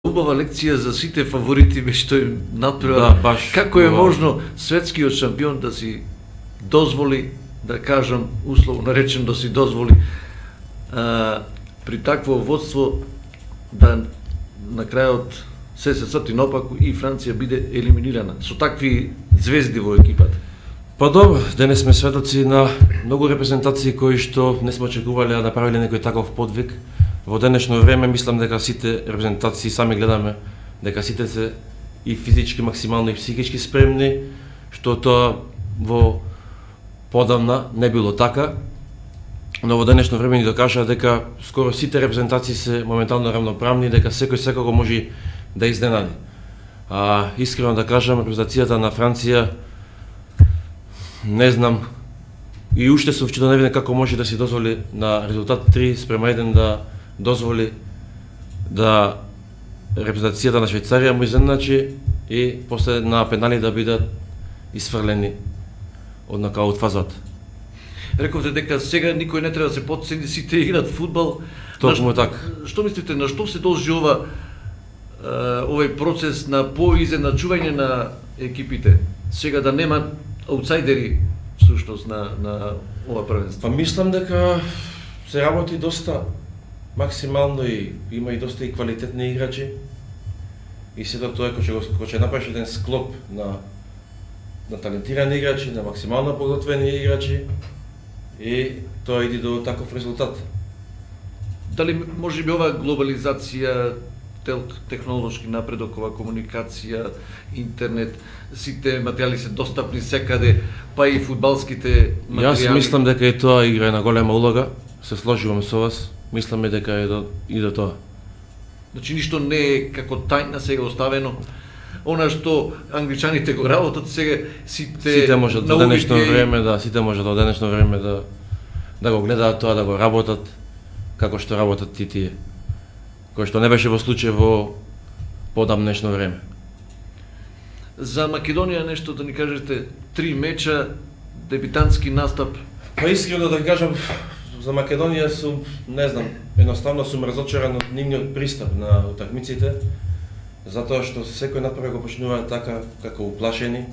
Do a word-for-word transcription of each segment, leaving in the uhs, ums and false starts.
Убава лекција за сите фаворити ме што им натпревар. Да, баш. Како е можно светскиот шампион да си дозволи, да кажам условно наречен да си дозволи а, при такво водство да на крајот се се сати наопаку и Франција биде елиминирана со такви звезди во екипата. Па добро, денес сме сведоци на многу репрезентации кои што не сме очекувале да направиле некој таков подвиг. Во денешно време мислам дека сите репрезентации сами гледаме дека сите се и физички максимално и психички спремни, што тоа во подамна не било така. Но во денешно време ни докажа дека скоро сите репрезентации се моментално равноправни, дека секој секако може да изненади. А искрено да кажам, репрезентацијата на Франција не знам и уште се вчера не видам како може да си дозволи на резултат три спрема еден да дозволи да репрезентацијата на Швајцарија му изненачи и после на пенали да бидат исфрлени од нокаут фазата. Рековте дека сега никој не треба да се потцени, сите играат фудбал. Точно така. Што мислите, на што се должи ова овој процес на поизеначување на екипите? Сега да нема аутсайдери всушност на на ова првенство. Па мислам дека се работи доста максимално и има и доста и квалитетни играчи. И сето тоа кој ќе кој ќе направиш еден склоп на на талентирани играчи, на максимално подготвени играчи и тоа иди до таков резултат. Дали може би ова глобализација, технолошки напредок, ова комуникација, интернет, сите материјали се достапни секаде, па и фудбалските материјали? Јас мислам дека и тоа игра на голема улога, се сложувам со вас, мисламе дека е до, и до тоа. Значи ништо не е како тајна сега оставено, она што англичаните го работат сега, сите сите можат до денешно време да сите можат до денешно време да да го гледаат тоа, да го работат како што работат и тие. Кој што не беше во случај во подамнешно време. За Македонија нешто да ни кажете, три меча, дебитантски настап. Па искрено да кажам, за Македонија сум, не знам, едноставно сум разочаран од нивниот пристап на утакмиците, затоа што секој напред го почнува така како уплашени,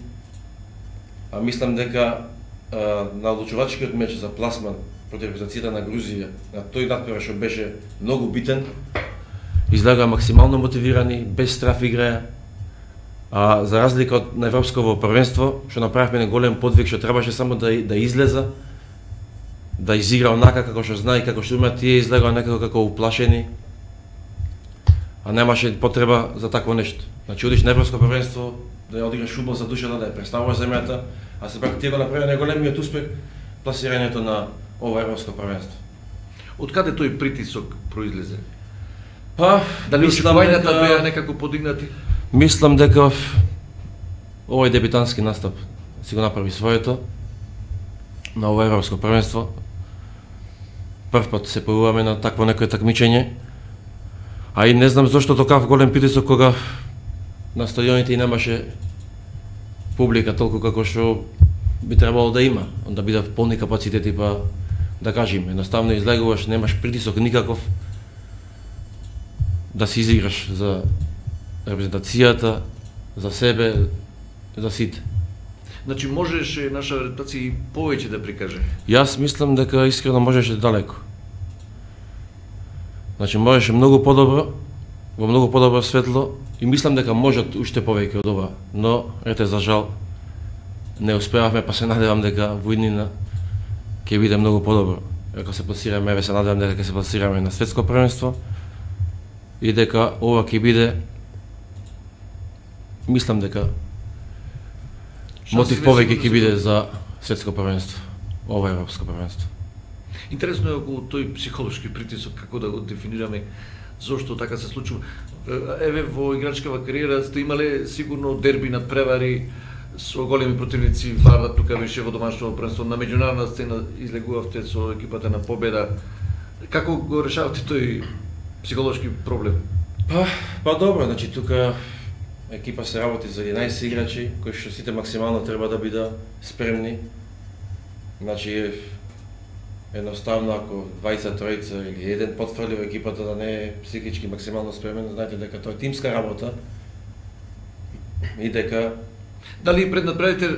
а мислам дека а, на одлучувачкиот меч за пласман против репрезентацијата на Грузија, на тој надпревар што беше многу битен, излегаа максимално мотивирани, без страф играја, а за разлика од на европсково првенство, што направивме еден голем подвиг, што требаше само да да излеза, да изигра онака како што знае, како што има, тие излегаа некако како уплашени, а немаше потреба за такво нешто. Значи одиш на европско првенство, да ја одиграш фудбал за душата, да ја представуваш земјата, а се пак тие го направи најголемиот успех пласирањето на ова европско првенство. Од каде тој притисок произлезе? Па, дали очекувањата беа некако подигнати? Мислам дека овој дебитантски настап си го направи своето на ова европско првенство. Прв пат се појавуваме на такво некое такмичење. А и не знам зошто такав голем притисок кога на стадионите и немаше публика толку како што би требало да има, да бидат полни капацитети, па да кажеме, едноставно излегуваш, немаш притисок никаков да се изиграш за репрезентацијата, за себе, за сите. Значи можеше наша репрезентација и повеќе да прикаже? Јас мислам дека искрено можеше далеко. Значи можеше многу подобро, во многу подобро светло и мислам дека можат уште повеќе од ова, но ете за жал не успеавме, па се надевам дека во иднина ќе биде многу подобро. Ако се пласираме, еве се надевам дека ќе се пласираме на светско првенство и дека ова ќе биде, мислам дека мотив повеќе ќе биде за светско првенство, ова европско првенство. Интересно е околу тој психолошки притисок, како да го дефинираме, зошто така се случува. Еве во играчкава кариера сте имале сигурно дерби надпревари со големи противници, Варда тука беше во домашно првенство, на меѓународна сцена излегувавте со екипата на Победа. Како го решавате тој психолошки проблем? Па, па добро, значи тука екипа се работи за единаесет играчи, кои што сите максимално треба да бидат спремни. Значи едноставно ако двајцет тројца или еден потфрли во екипата да не е психички максимално спремен, знаете дека тоа е тимска работа и дека... Дали пред надпреварите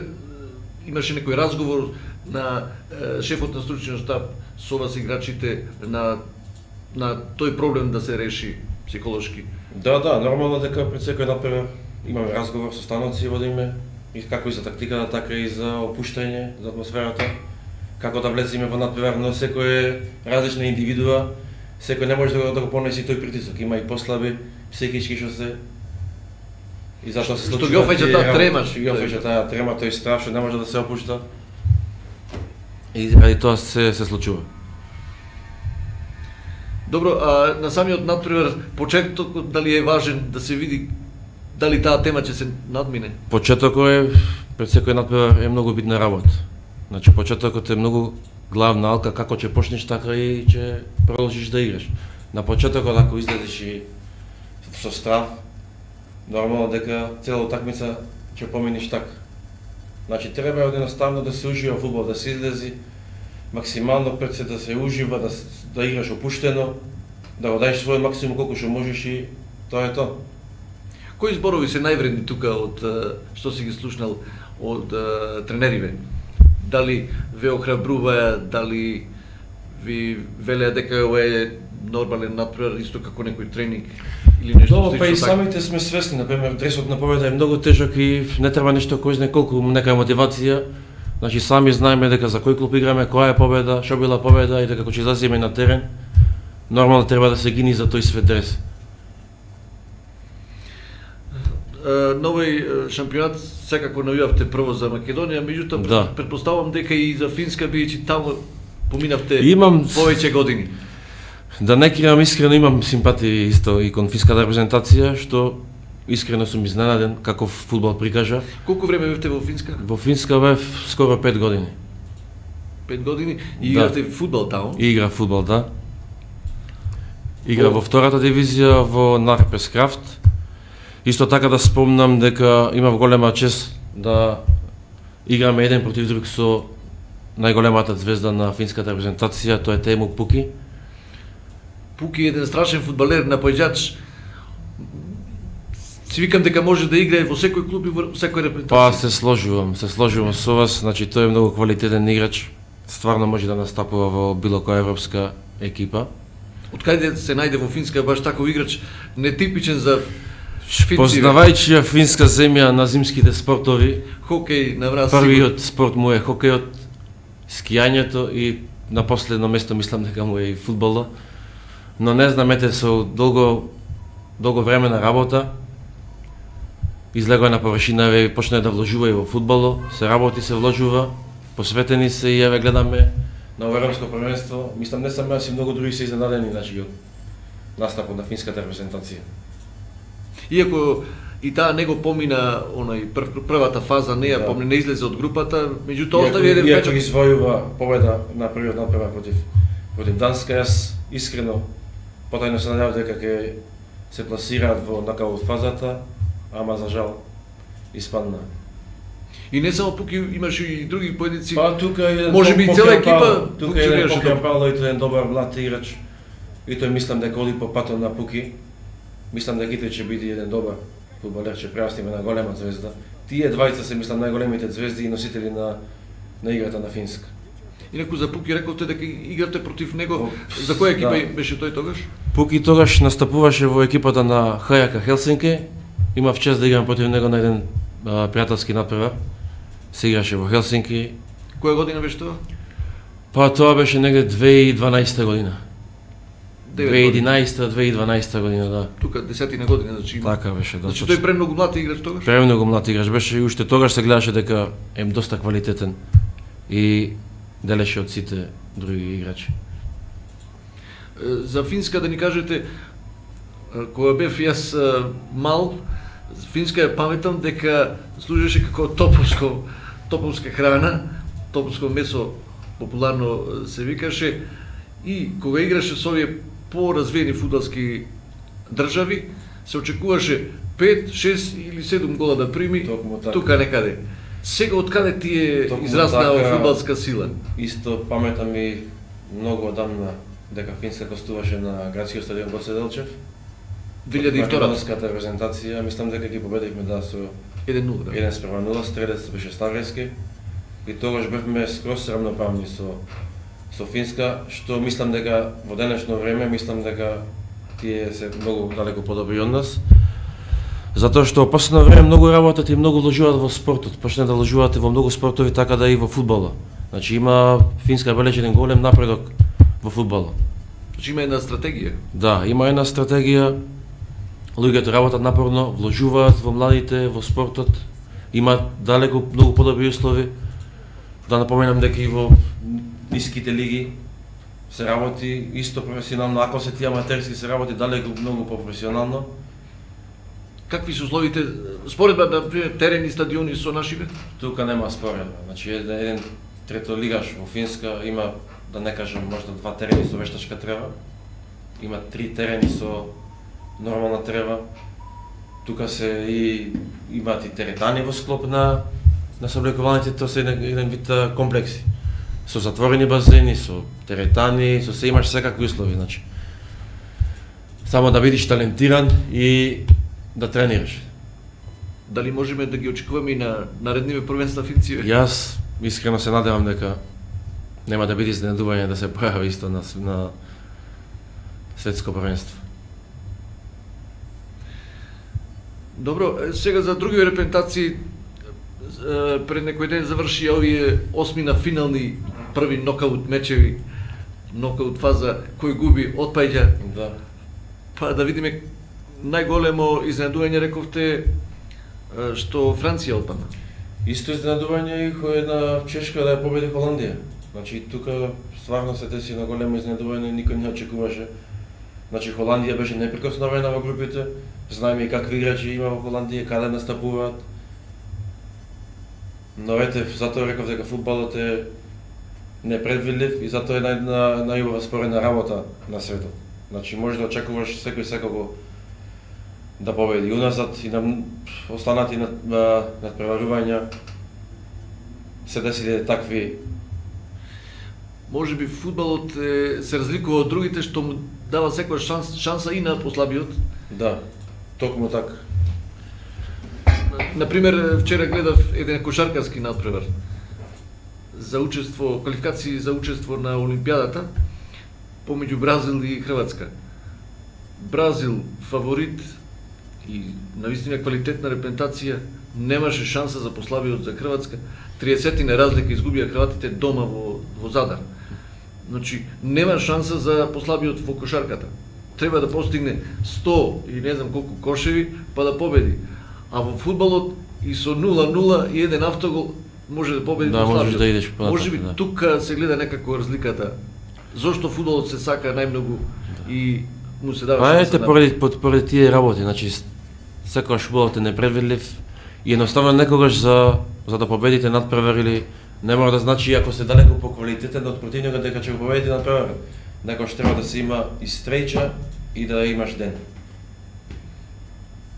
имаше некој разговор на е, шефот на стручниот штаб со вас играчите на на тој проблем да се реши психолошки? Да, да, нормално дека пред секој надпревар имаме разговор со становци, водиме и како и за тактиката, така и за опуштање, за атмосферата, како да влеземе во надпревар, но секој е различна индивидуа, секој не може да го, да го понесе тој притисок, има и послаби психички што се и затоа се случува. Што ги офаќа таа трема, што ги офаќа таа трема, тој страв што не може да се опушта. И заради тоа се се случува. Добро, а на самиот надпревар почетокот дали е важен да се види дали таа тема ќе се надмине? Почетокот е пред секој надпревар е многу битна работа. Значи почетокот е многу главна алка, како ќе почнеш така и ќе продолжиш да играш. На почетокот ако излезеш и со страв, нормално дека цела утакмица ќе поминиш така. Значи треба едноставно да се ужива фудбал, да се излези максимално пред се да се ужива, да да играш опуштено, да го даеш свој максимум колку што можеш и тоа е тоа. Кои зборови се највредни тука од што си ги слушнал од тренериве? Дали ве охрабруваа, дали ви велеа дека ова е нормален надпревар, исто како некој тренинг или нешто слично? Да, па и самите сме свесни, например, дресот на победа е многу тежок и не треба нешто кој знае колку нека мотивација. Значи сами знаеме дека за кој клуб играме, која е победа, што била победа и дека кога ќе излеземе на терен, нормално треба да се гини за тој свет дрес. Новој шампионат секако најавте прво за Македонија, меѓутоа да. Претпоставувам дека и за Финска бидејќи таму поминавте имам повеќе години. Да не кривам, искрено имам симпатии исто и кон финската репрезентација, што искрено сум изненаден каков фудбал прикажа. Колку време бевте во Финска? Во Финска бев скоро пет години. пет години и игравте да. Фудбал таму? И игра фудбал, да. Игра О. во втората дивизија во Нарпес Крафт. Исто така да спомнам дека имав голема чест да играме еден против друг со најголемата звезда на финската репрезентација, тоа е Теему Пуки. Пуки е еден страшен фудбалер, напаѓач. Си викам дека може да играе во секој клуб и во секој репрезентација. Па се сложувам, се сложувам со вас, значи тој е многу квалитетен играч. Стварно може да настапува во било која европска екипа. Од каде се најде во Финска баш таков играч, нетипичен за Финци? Познавајќи ја финска земја на зимските спортови, хокеј на враз. Првиот спорт му е хокејот, скијањето и на последно место мислам дека му е и фудбалот. Но не знам, ете со долго долго време на работа излегува на површина и почна да вложува и во фудбалот, се работи, се вложува, посветени се и еве гледаме на европско првенство. Мислам не само јас и многу други се изненадени значи од настапот на финската репрезентација. Иако и таа него помина онај прв, првата фаза, не ја да. Помни, не излезе од групата, меѓутоа остави еден печат. Иако извојува победа на првиот надпревар против против Данска, јас искрено потајно се надевав дека ќе се пласираат во нокаут фазата, ама за жал испадна. И не само Пуки, имаше и други поединци. Па тука е можеби цела екипа тука е еден Покер Павло и тој е еден добар млад играч. И тој мислам дека оди по патот на Пуки. Мислам дека и тој ќе биде еден добар фудбалер, ќе прерастиме на голема звезда. Тие двајца се мислам најголемите звезди и носители на на играта на Финска. Инаку за Пуки рековте дека играте против него. За која екипа да. Беше тој тогаш? Пуки тогаш настапуваше во екипата на Хајака Хелсинки. Имав чест да играм против него на еден а, пријателски надпревар. Се играше во Хелсинки. Која година беше тоа? Па тоа беше негде две илјади и дванаесета година. две илјади и единаесета две илјади и дванаесета година, да. Тука десетина година, значи има. Така беше, да. Значи тој премногу млад играч тогаш? Премногу млад играч беше и уште тогаш се гледаше дека е доста квалитетен и делеше од сите други играчи. За Финска да ни кажете, кога бев јас мал, Финска ја паметам дека служеше како топовско, топовска храна, топовско месо популарно се викаше, и кога играше со овие поразвиени фудбалски држави, се очекуваше пет, шест или седум гола да прими, тука некаде. Сега од каде ти е израснала така, фудбалска сила? Исто паметам и многу одамна дека Финска гостуваше на градскиот стадион Гоце Делчев. две илјади и втора македонската репрезентација, мислам дека ги победивме да со еден нула, да. еден спрема нула, стрелец беше Ставрески. И тогаш бевме скроз рамноправни со со Финска, што мислам дека во денешно време мислам дека тие се многу далеку подобри од нас. Затоа што во последно време многу работат и многу вложуваат во спортот, почне да вложуваат и во многу спортови, така да и во фудбалот. Значи има Финска бележи еден голем напредок во фудбалот. Значи има една стратегија. Да, има една стратегија. Луѓето работат напорно, вложуваат во младите, во спортот, имаат далеку многу подобри услови. Да напоменам дека и во ниските лиги се работи исто професионално, ако се тие аматерски се работи далеку многу по-професионално. Какви се условите споредба на пример терени, стадиони со нашите? Тука нема споредба. Значи еден, еден третолигаш во Финска има, да не кажам, можда два терени со вештачка трева. Има три терени со нормална трева. Тука се и имаат и теретани во склоп на на сооблекувањето, тоа се еден, еден вид комплекси. Со затворени базени, со теретани, со се имаш секакви услови, значи. Само да бидеш талентиран и да тренираш. Дали можеме да ги очекуваме и на наредниве првенства Финци? Јас искрено се надевам дека нема да биде изненадување да се појави исто на, на светско првенство. Добро, сега за други репрезентации пред некој ден заврши овие осми на финални први нокаут мечеви, нокаут фаза, кој губи отпаѓа. Да. Па да видиме најголемо изненадување рековте што Франција отпадна. Исто изненадување и кој една Чешка да ја победи Холандија. Значи тука стварно се деси на големо изненадување, никој не очекуваше. Значи Холандија беше неприкосновена во групите, знаеме и какви играчи има во Холандија, каде настапуваат. Но ете, затоа реков дека фудбалот е непредвидлив и затоа е нај најубава споредна работа на светот. Значи може да очекуваш секој секако да победи уназад и на останати над, надпреварувања се десиле такви. Може би фудбалот е, се разликува од другите што му дава секоја шанс, шанса и на послабиот. Да, токму така. Например, вчера гледав еден кошаркарски надпревар за учество, квалификации за учество на Олимпијадата помеѓу Бразил и Хрватска. Бразил фаворит и навистина квалитетна репрезентација, немаше шанса за послабиот за Хрватска. триесет разлика изгубија хрватите дома во, во Задар. Значи, нема шанса за послабиот во кошарката. Треба да постигне сто и не знам колку кошеви, па да победи. А во фудбалот и со нула нула и еден автогол може да победи да, послабиот. Да, можеш да идеш понатаму. Може би да. тука се гледа некако разликата. Зошто фудбалот се сака најмногу да. И му се дава шанса. Ете, на... поради, поради тие работи, значи секогаш фудбалот е непредвидлив и едноставно некогаш за за да победите надпревар или не мора да значи ако се далеку по квалитетен од противникот дека ќе го победите надпревар. Некогаш треба да се има и стреќа и да имаш ден.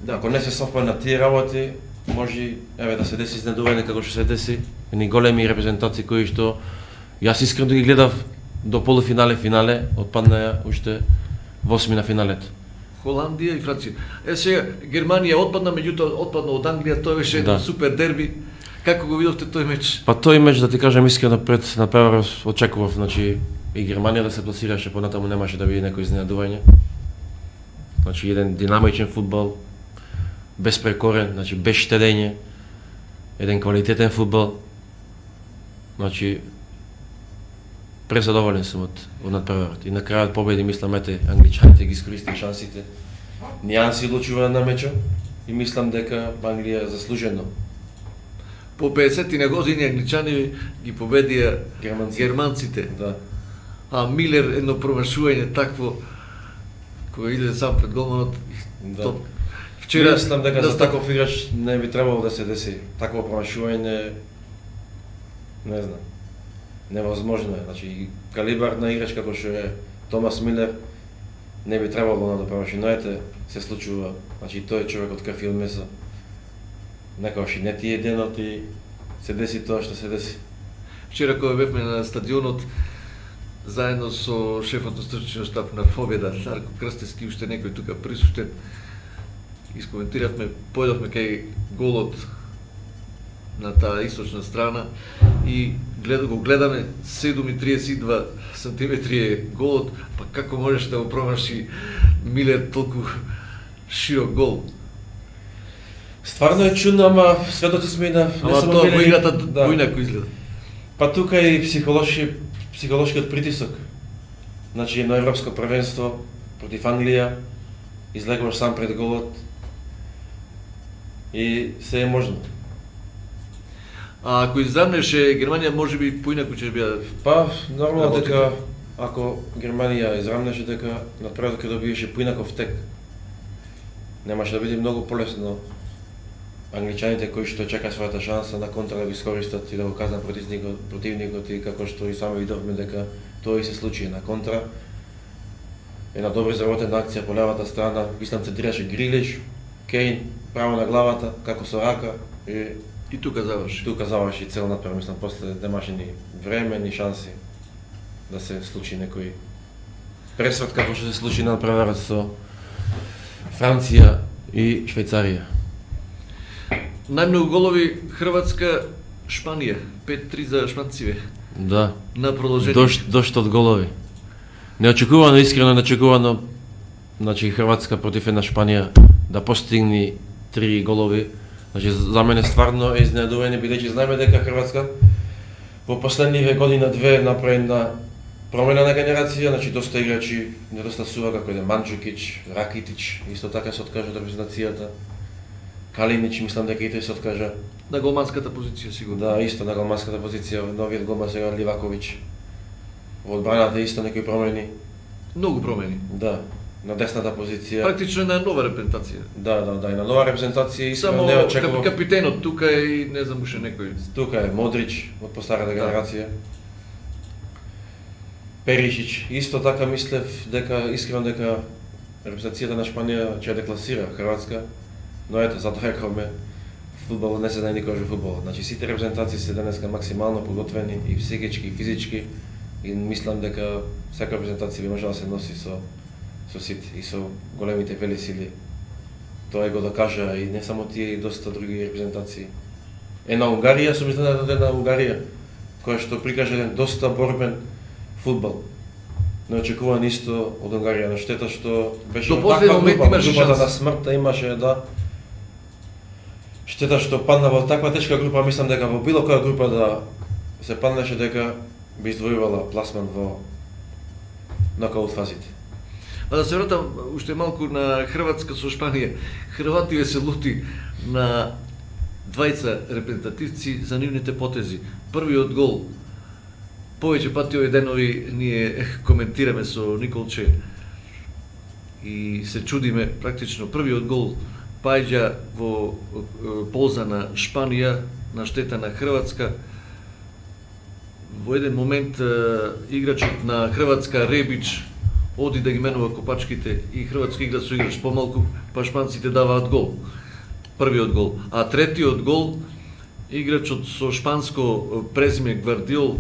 Да, ако не се совпаднат тие работи, може еве да се деси изненадување како што се деси, едни големи репрезентации кои што јас искрено ги гледав до полуфинале, финале, отпаднаа уште во осми на финалето. Холандија и Франција. Е сега Германија отпадна, меѓутоа отпадна од Англија, тоа беше еден да. супер дерби. Како го видовте тој меч? Па тој меч, да ти кажам искрено, пред надпреварот очекував, значи и Германија да се пласираше, понатаму немаше да биде некој изненадување. Значи еден динамичен фудбал, безпрекорен, значи без штедење, еден квалитетен фудбал. Значи презадоволен сум од, од надпреварот. И на крајот победи, мислам, ете, англичаните ги искористија шансите. Нијанси одлучува на мечот и мислам дека Англија заслужено. По педесетина години англичани ги победија Германци. германците. Да. А Милер едно промашување такво кога иде сам пред голманот. Да. То, вчера мислам дека да за таков играч не би требало да се деси такво промашување. Не знам. Невозможно е. Значи калибар на играч како што е Томас Милер не би требало да промаши, но ете се случува. Значи тој е човек од крв и од месо. Некогаш и не ти е денот и се деси тоа што се деси. Вчера кога бевме на стадионот, заедно со шефот на стручниот штаб на Победа, Дарко Крстевски, уште некој тука присуштен, искоментиравме, појдовме кај голот на таа источна страна и гледа, го гледаме седум и триесет и два сантиметри е голот, па како можеш да го промаши Милер толку широк гол? Стварно е чудно, ама сведоци сме и на... Ама тоа во играта поинаку изгледа. Па тука и психолошки, психолошкиот притисок. Значи едно европско првенство против Англија, излегуваш сам пред голот и се е можно. А ако израмнеше Германија, можеби поинаку ќе бија... Па, нормално дека ако Германија израмнеше, дека напредок ќе добиеше поинаков тек. Немаше да биде многу полесно англичаните кои што чекаат својата шанса на контра да го искористат и да го казнат противникот, противникот и како што и сами видовме дека тоа и се случи на контра. Една добро изработена акција по левата страна, мислам центрираше Грилиш, Кейн право на главата, како со рака и И тука заврши. Тука заврши цел напред, мислам, после немаше ни време, ни шанси да се случи некој пресврт како што се случи на преварот со Франција и Швајцарија. Најмногу голови Хрватска, Шпанија, пет три за шпанциве. Да. На продолжение. Дошт, дошт од голови. Неочекувано, искрено неочекувано, значи Хрватска против една Шпанија да постигни три голови. Значи за мене стварно е изненадување, бидејќи знаеме дека Хрватска во последниве година две направи една промена на генерација, значи доста играчи недостасува како е Манџукич, Ракитич, исто така се откажа од репрезентацијата. Калинич, мислам дека и тој се откажа. На голманската позиција сигурно. Да, исто на голманската позиција, новиот голман сега Ливаковиќ. Во одбраната исто некои промени. Многу промени. Да, на десната позиција. Практично на нова репрезентација. Да, да, да, и на нова репрезентација и само не очекував. Кап, капитенот тука е и не знам уште некој. Тука е Модрич од постарата генерација. Перишич, исто така мислев дека искрено дека репрезентацијата на Шпанија ќе декласира Хрватска, но ето затоа рековме фудбал не се знае никош во фудбал. Значи сите репрезентации се денеска максимално подготвени и психички и физички и мислам дека секоја репрезентација би можела да се носи со со сите и со големите велесили. Тоа го докажа и не само тие, и доста други репрезентации. Една Унгарија, сум изненаден од една Унгарија, која што прикажа еден доста борбен фудбал. Неочекуван исто од Унгарија, но штета што беше до последен момент имаше групата шанс. на смртта имаше, да. Штета што падна во таква тешка група, мислам дека во било која група да се паднеше дека би издвојувала пласман во нокаут фазите. А да се вратам уште малку на Хрватска со Шпанија. Хрвативе се лути на двајца репрезентативци за нивните потези. Првиот гол, повеќе пати овие денови ние коментираме со Николче и се чудиме практично. Првиот гол паѓа во полза на Шпанија, на штета на Хрватска. Во еден момент играчот на Хрватска Ребич оди да ги менува копачките и Хрватска игра со играч помалку, па шпанците даваат гол. Првиот гол. А третиот гол, играчот со шпанско презиме Гвардиол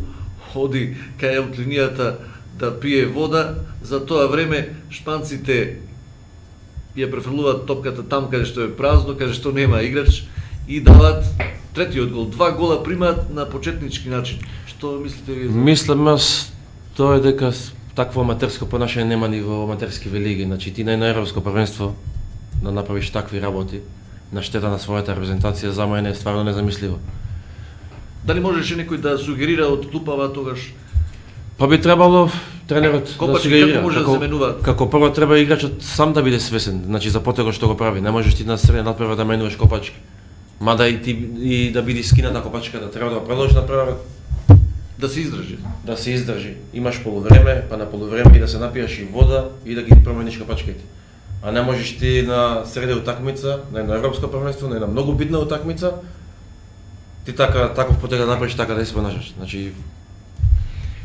оди кај од линијата да пие вода, за тоа време шпанците ја префрлуваат топката там каде што е празно, каде што нема играч и даваат третиот гол. Два гола примаат на почетнички начин. Што мислите вие? Мислам аз тоа е дека такво аматерско понашање нема ни во аматерски велиги. Значи ти на едно европско првенство да направиш такви работи на штета на својата репрезентација за мене е стварно незамисливо. Дали можеше некој да сугерира од клупава тогаш? Па би требало тренерот Копачки, да сугерира. како може да се менуваат? Како прво треба играчот сам да биде свесен, значи за потегот што го прави. Не можеш ти на среден надпревар да менуваш копачки. Мада и ти и да биде скината копачката, треба да продолжи надпреварот. Да се издржи. Да се издржи. Имаш полувреме, па на полувреме и да се напиеш и вода и да ги промениш копачките. А не можеш ти на среде утакмица, на едно европско првенство, на една многу битна утакмица, ти така таков потег да направиш, така да се понашаш. Значи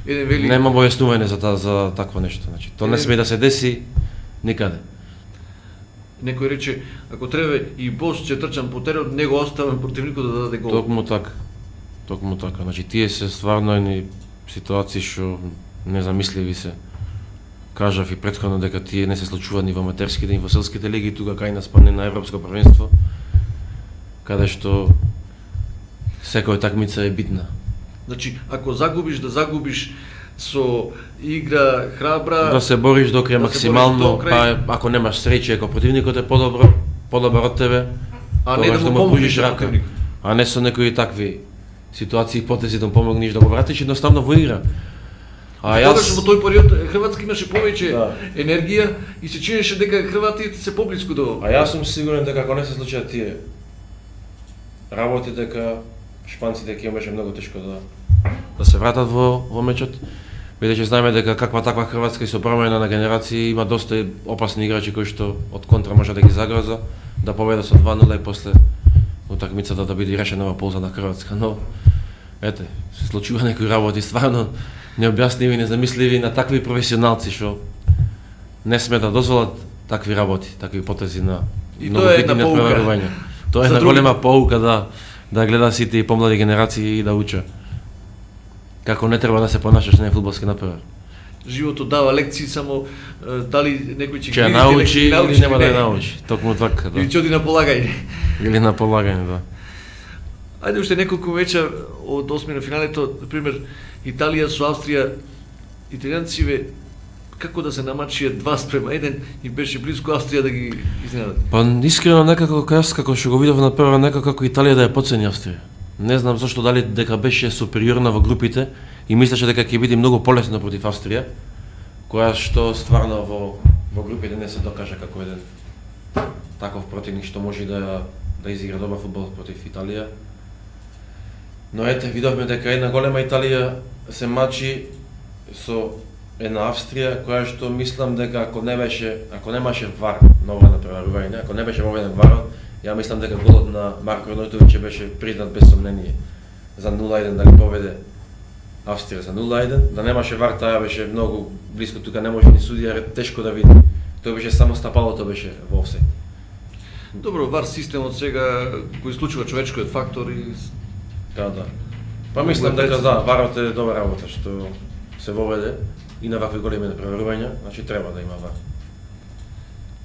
Еден вели нема објаснување за та, за такво нешто. Значи тоа не сме да се деси никаде. Некој рече, ако треба и бос ќе трчам по терен, него оставам противникот да даде гол. Токму така. Токму така. Значи тие се стварно едни ситуации што незамисливи се. Кажав и претходно дека тие не се случуваат ни во аматерските, ни во селските лиги, тука кај нас спадне на европско првенство, каде што секоја такмица е битна. Значи, ако загубиш, да загубиш со игра храбра, да се бориш до крај да максимално, па ако немаш среќа, ако противникот е подобро, подобар од тебе, а не да му помогнеш рака, а не со некои такви ситуации и потези да му помогнеш да го вратиш едноставно во игра. А јас во тој период Хрватска имаше повеќе да. енергија и се чинеше дека хрватите се поблиску до. А јас сум сигурен дека ако не се случат тие работи, дека шпанците ќе имаше многу тешко да да се вратат во во мечот. Бидејќи знаеме дека каква таква Хрватска и со промена на генерации има доста опасни играчи кои што од контра може да ги загроза, да победа со два нула и после утакмицата да биде решена во полза на Хрватска, но ете, се случува некои работи стварно необјасними, незамисливи на такви професионалци што не сме да дозволат такви работи, такви потези на и многу битни надпреварувања. Тоа е на голема поука да да гледа сите и помлади генерации и да уча како не треба да се понашаш на фудбалски натпревар. Животот дава лекции, само дали некој ќе ги научи или нема да ја научи. Токму така, да. Или ќе оди на полагање. Или на полагање, да. Ајде уште неколку веча од осми на финалето, на пример Италија со Австрија, италијанциве како да се намачија два спрема еден и беше близко Австрија да ги изненадат. Па искрено некако јас како што го видов на прва некако како Италија да ја потцени Австрија. Не знам зашто, дали дека беше супериорна во групите и мислеше дека ќе биде многу полесно против Австрија, која што стварно во во групите не се докажа како еден таков противник што може да да изигра добар фудбал против Италија. Но ете, видовме дека една голема Италија се мачи со една Австрија која што мислам дека ако не беше, ако немаше вар на ова натпреварување, ако не беше воведен варот, ја мислам дека голот на Марко Арнаутовиќ беше признат без сомнение за нула еден дали победе Австрија за нула еден, да немаше вар, таа беше многу близко, тука не може ни судија тешко да види. Тоа беше само стапалото беше во офсайд. Добро, вар системот сега го исклучува човечкиот фактор и да, да. Па мислам дека да, варот е добра работа што се воведе и на вакви големи натпреварувања, значи треба да има вар.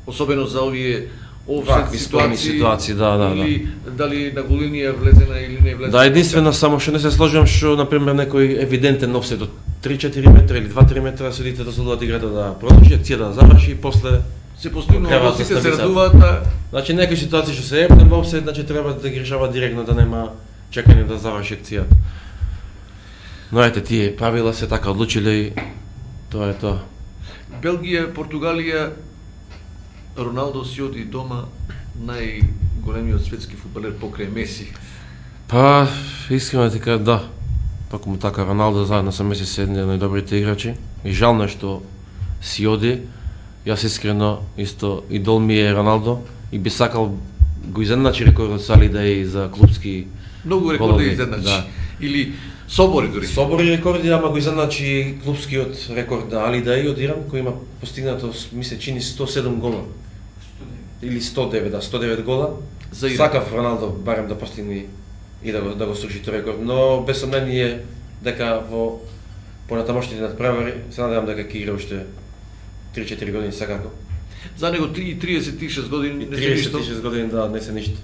Особено за овие офсайд ситуации, ситуации, да, да, или да. Дали на голинија влезена или не влезена. Да, единствено само што не се сложувам што на пример некој евидентен офсайд од три-четири метра или два-три метра судите дозволуваат играта да продолжи, акцијата да заврши и после се постигнува, сите се радуваат. А... Значи некои ситуации што се епнем во офсайд, значи треба да ги решава директно, да нема чекање да заврши акцијата. Но ете, тие правила се така одлучиле и тоа е тоа. Белгија, Португалија, Роналдо си оди дома најголемиот светски фудбалер покрај Меси. Па, искрено дека да. Токму така Роналдо заедно со Меси се едни од најдобрите играчи и жално е што си оди. Јас искрено исто идол ми е Роналдо и би сакал го изедначи рекордот со Али Деј за клупски многу рекорди изедначи. Да. Или собори дури. Собори рекорди, ама го изедначи клупскиот рекорд на Али Деј од Иран, кој има постигнато, мисле, чини сто седум гола. Или сто девет, да, сто девет гола. Сакав Роналдо барем да постигне и да го да го сруши тој рекорд, но без сомнение дека во понатамошните надпревари се надевам дека ќе игра уште три-четири години секако. За него триесет и шест години не се ништо. триесет и шест години да не се ништо.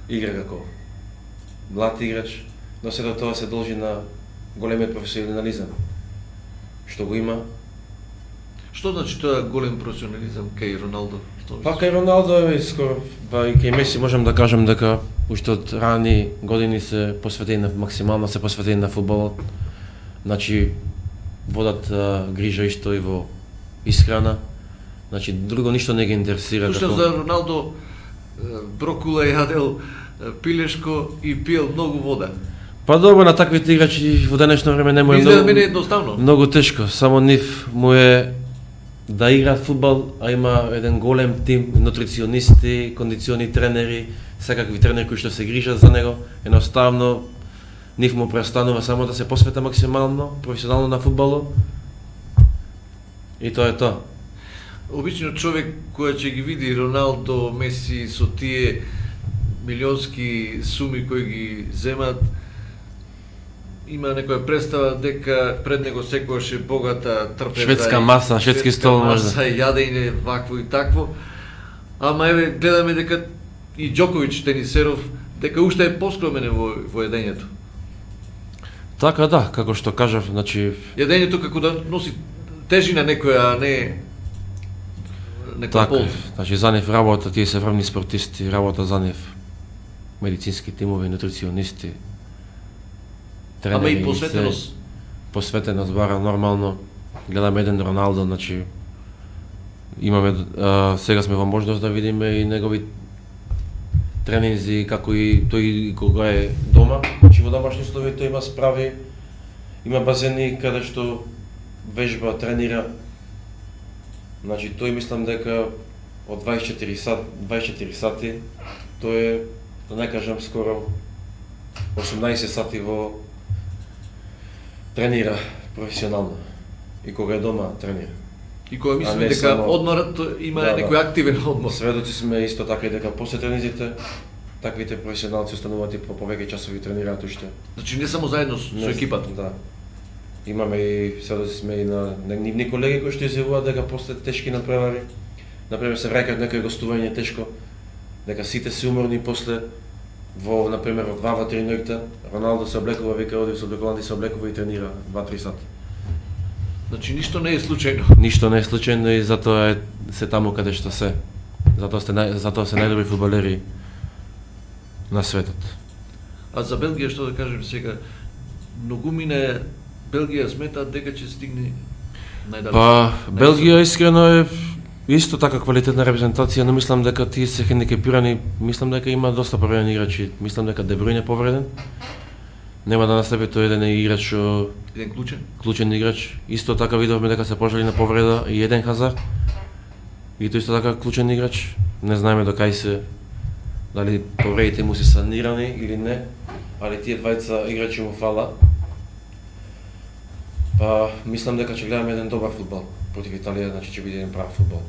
Игра како млад играч, но се до тоа се должи на големиот професионализам што го има. Што значи тоа голем професионализам кај Роналдо? Па кај Роналдо е скоро, па и кај Меси можам да кажам дека уште од рани години се посветени на максимално се посветени на фудбалот. Значи водат а, грижа исто и во исхрана. Значи друго ништо не ги интересира. Слушам за Роналдо, брокула јадел, пилешко и пил многу вода. Па добро, на таквите играчи во денешно време не му е многу... Изгледа мене едноставно. Многу тешко, само нив му е да играат фудбал, а има еден голем тим, нутриционисти, кондициони тренери, секакви тренери кои што се грижат за него. Едноставно нив му престанува само да се посвета максимално, професионално на фудбалот. И тоа е тоа. Обично човек кој ќе ги види Роналдо, Меси со тие милионски суми кои ги земат, има некоја представа дека пред него секогаш е богата трпеза, Шведска маса, шведски стол маса, можда. јадење вакво и такво. Ама еве гледаме дека и Џоковиќ тенисеров дека уште е поскромен во во јадењето. Така да, како што кажав, значи Јадењето како да носи тежина некоја, а не некоја така, полза. значи за нив работа, тие се врвни спортисти, работа за нив медицински тимови, нутриционисти, тренери. Ама и се- посветеност. Посветеност бара нормално. Гледаме еден Роналдо, значи имаме а, сега сме во можност да видиме и негови тренинзи како и тој и кога е дома, значи во домашни услови тој има справи, има базени каде што вежба, тренира. Значи тој мислам дека од дваесет и четири сат, дваесет и четири сати, тој е, да не кажам скоро осумнаесет сати во тренира професионално. И кога е дома тренира. И кога А мислиме не дека само- одморот има Да, да. некој активен одмор. Сведоци сме исто така и дека после тренизите таквите професионалци остануваат и по повеќе часови тренираат уште. Значи не само заедно со со екипата. Да. Имаме и сведоци сме и на на нивни колеги кои што изјавуваат дека после тешки надпревари, например се враќаат некој гостување тешко, дека сите се уморни после во например во два во три ноќта, Роналдо се облекува, вика оди со облекуван се облекува и тренира два-три сати. Значи ништо не е случајно. Ништо не е случајно и затоа е се таму каде што се. Затоа сте нај, затоа се најдобри фудбалери на светот. А за Белгија што да кажем сега, многумина Белгија сметаат дека ќе стигне најдалеч. Па Белгија искрено е исто така квалитетна репрезентација, но мислам дека тие се хендикепирани, мислам дека има доста повредени играчи. Мислам дека Де Брујне е повреден. Нема да настапи тој еден играч што Еден клучен. клучен играч. Исто така видовме дека се пожали на повреда и еден Хазар. И тој исто така клучен играч. Не знаеме до кај се, дали повредите му се санирани или не, али тие двајца играчи му фала. Па мислам дека ќе гледаме еден добар фудбал против Италија, значи ќе биде еден прав фудбал.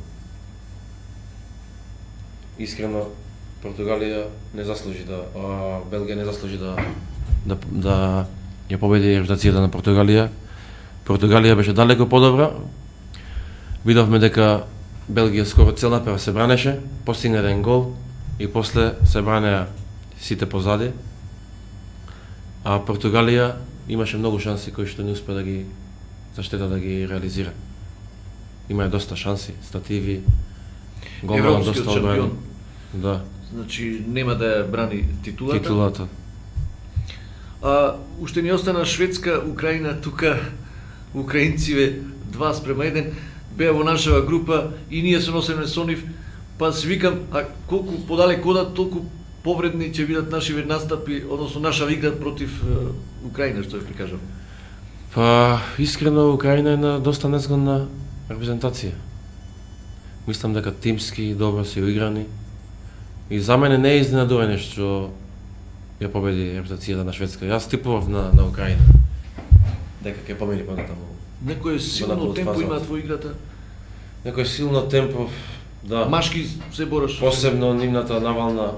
Искрено Португалија не заслужи да, а, Белгија не заслужи да да да ја победи репутацијата на Португалија. Португалија беше далеко подобра. Видовме дека Белгија скоро цел напрема се бранеше, постигна еден гол и после се бранеа сите позади. А Португалија имаше многу шанси кои што не успе да ги заштета да ги реализира. Има доста шанси, стативи, голман Европскиот доста одбрани. шампион. Да, Значи нема да ја брани титулата. титулата. А уште ни остана Шведска, Украина, тука украинциве два спрема еден беа во нашава група и ние се носиме со нив, па си викам, а колку подалеку одат, толку повредни ќе бидат нашиве настапи, односно наша игра против е, Украина, што ја прикажам. Па, искрено, Украина е на доста незгодна репрезентација. Мислам дека тимски добро се уиграни. И за мене не е изненадување што ја победи репрезентацијата на Шведска. Јас типував на, на Украина. Дека ќе победи понатаму. Некој силно напад темпо фазата. имаат во играта. Некој силно темпо, да. Машки се бораш. Посебно нивната навална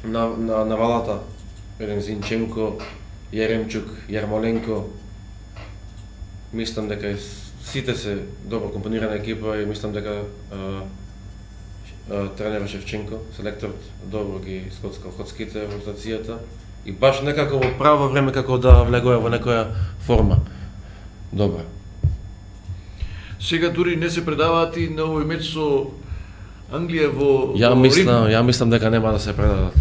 на, на навалата. Еден Зинченко, Јеремчук, Јармоленко. Мислам дека е сите се добро компонирана екипа и мислам дека а, а, тренерот Шевченко, селекторот, добро ги скоцкал коцките во ротацијата и баш некако во право време како да влегува во некоја форма. Добра. Сега дури не се предаваат и на овој меч со Англија во Ја во мислам, Рим. ја мислам дека нема да се предадат.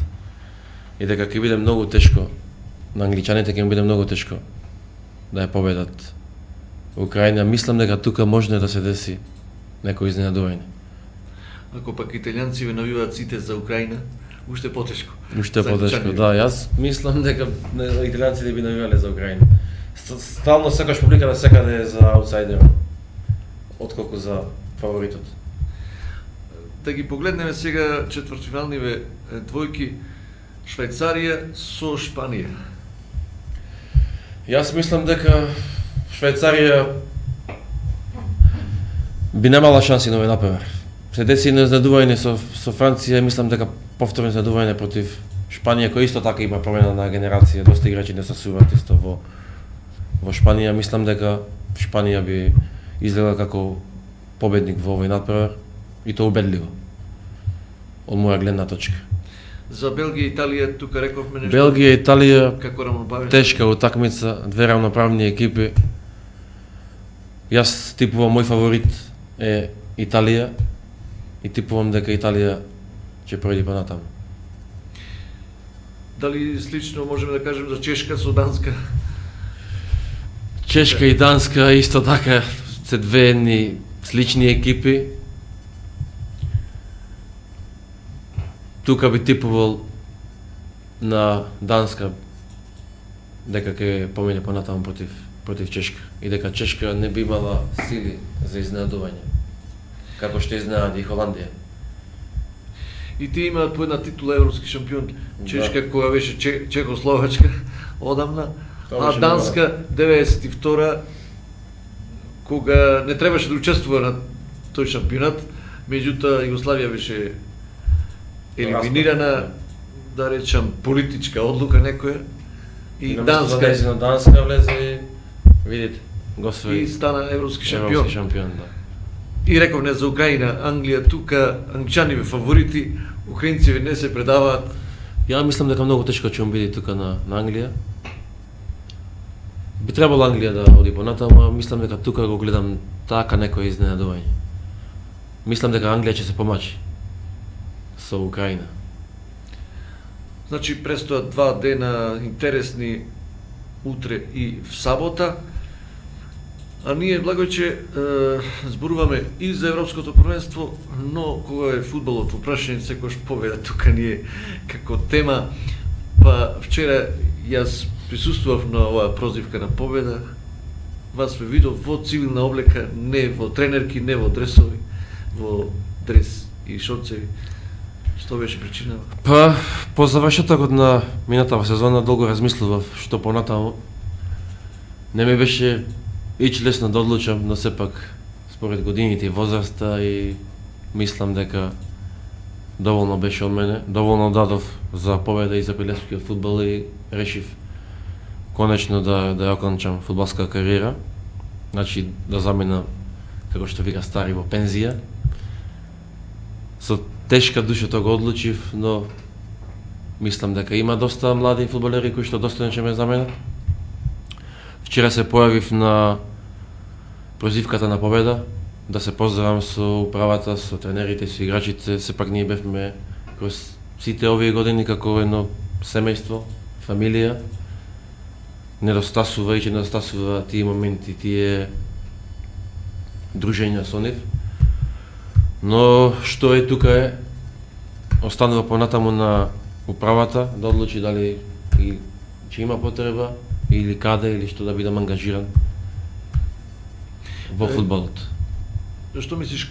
И дека ќе биде многу тешко. На англичаните ќе им биде многу тешко да ја победат Украина. Мислам дека тука може да се деси некој изненадување. Ако пак италијанци навиваат сите за Украина, уште потешко. Уште За потешко, англичани. да. Јас мислам дека не, италијанците би навивале за Украина. Ст- Стално секогаш публика да секаде е за аутсайдерот, отколку за фаворитот. Да ги погледнеме сега четвртфиналниве е, двојки Швајцарија со Шпанија. Јас мислам дека Швајцарија би немала шанси на овој напревар. Се деси изненадување со со Франција, мислам дека повторно изненадување против Шпанија кој исто така има промена на генерација, доста играчи не се суват исто во во Шпанија, мислам дека Шпанија би изгледа како победник во овој натпревар и тоа убедливо. Од моја гледна точка. За Белгија и Италија тука рековме нешто. Белгија и Италија Како рамноправни? тешка утакмица, две рамноправни екипи. Јас типувам мој фаворит е Италија и типувам дека Италија ќе пројде понатаму. Дали слично можеме да кажем за Чешка со Данска? Чешка и Данска исто така се две едни слични екипи. Тука би типувал на Данска дека ќе помине понатаму против против Чешка и дека Чешка не би имала сили за изненадување, како што изненади и Холандија. И тие имаат по една титула европски шампион. Чешка да. Која беше Че, Чехословачка одамна, а Данска деветдесет и втора кога не требаше да учествува на тој шампионат, меѓутоа Југославија беше елиминирана, да речам политичка одлука некоја и Данска на Данска влезе, видите, го свои и стана европски шампион. Европски шампион, да. И рековме за Украина, Англија тука, англичани фаворити, украинци не се предаваат. Ја мислам дека многу тешко ќе му биде тука на, на Англија. Би требало Англија да оди понатаму, а мислам дека тука го гледам така некој изненадување. Мислам дека Англија ќе се помачи со Украина. Значи престојат два дена интересни, утре и в сабота. А ние, Благојче, е, зборуваме и за Европското првенство, но кога е фудбалот во прашање, секојаш победа тука ние како тема. Па вчера јас присуствував на оваа прозивка на победа. Вас ве видов во цивилна облека, не во тренерки, не во дресови, во дрес и шорцеви. Што беше причинава? Па, по завршетокот на минатава сезона долго размислував што понатаму. Не ми беше ич лесно да одлучам, но сепак според годините и возраста и мислам дека доволно беше од мене, доволно дадов за победа и за пилевскиот фудбал и решив конечно да да ја окончам фудбалска кариера. Значи да заминам, како што вика стари, во пензија. Со тешка душа тоа го одлучив, но мислам дека има доста млади фудбалери кои што достојно ќе ме заменат. Вчера се појавив на прозивката на победа, да се поздравам со управата, со тренерите, со играчите. Сепак ние бевме кроз сите овие години како едно семејство, фамилија. Недостасува и ќе недостасува тие моменти, тие дружења со нив. Но што е тука е, останува понатаму на управата да одлучи дали и ќе има потреба или каде или што да бидам ангажиран во фудбалот. Што мислиш,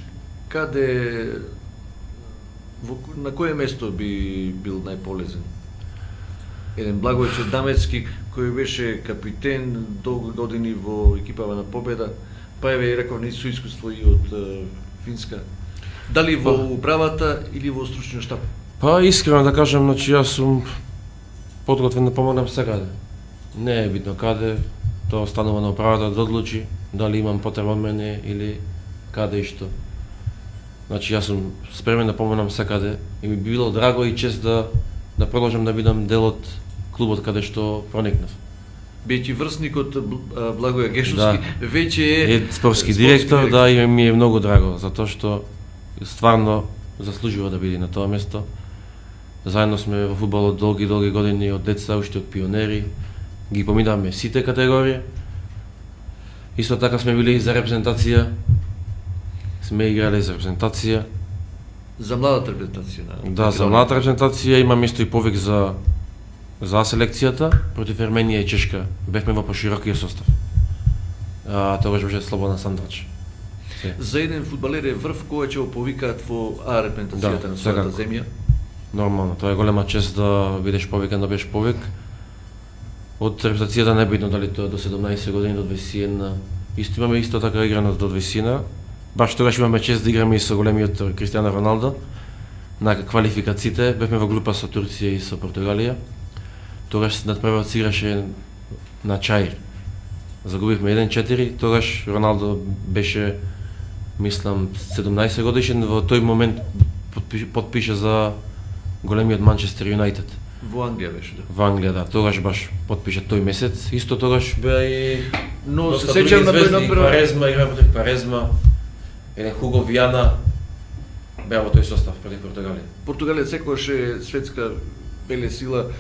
каде, во, на кое место би бил најполезен? Еден Благојче Дамецки, кој беше капитен долго години во екипава на Победа, па еве реков не со искуство и од uh, Финска. Дали во па, управата или во стручниот штаб? Па искрено да кажам, значи јас сум подготвен да помогнам секаде. Не е битно каде, тоа останува на управата да одлучи дали имам потреба од мене или каде и што. Значи јас сум спремен да помогнам секаде и ми би било драго и чест да да продолжам да бидам дел од клубот каде што проникнав. Бејќи врсникот Благоја Гешовски, да, веќе е, е спортски директор, директор, да, и ми е многу драго, затоа што стварно заслужува да биде на тоа место. Заедно сме во фудбалот долги, долги години, од деца, уште од пионери, ги поминавме сите категории. Исто така сме били за репрезентација, сме играли за репрезентација. За младата репрезентација? На... Да, за младата репрезентација има место и повик за за селекцијата против Ерменија и Чешка. Бевме во поширокиот состав. А тогаш беше Слободан Сандрач. За еден фудбалер е врв кој ќе го повикаат во А репрезентацијата, да, на својата земја. Нормално, тоа е голема чест да бидеш повикан, да бидеш повик. Од репрезентацијата не битно дали тоа до седумнаесет години, до дваесет и една. Исто имаме исто така играно до дваесет и една. Баш тогаш имаме чест да играме и со големиот Кристијано Роналдо, на квалификациите, бевме во група со Турција и со Португалија. Тогаш надпреварот се играше на Чаир. Загубивме еден четири, тогаш Роналдо беше, мислам, седумнаесет годишен, во тој момент подпише, подпише за големиот Манчестер Юнайтед. Во Англија беше, да. Во Англија, да, тогаш баш подпише тој месец. Исто тогаш беа и но се сеќавам на тој напред Парезма, игра против Парезма, еден Хуго Вијана беа во тој состав против Португалија. Португалија секогаш е светска велесила,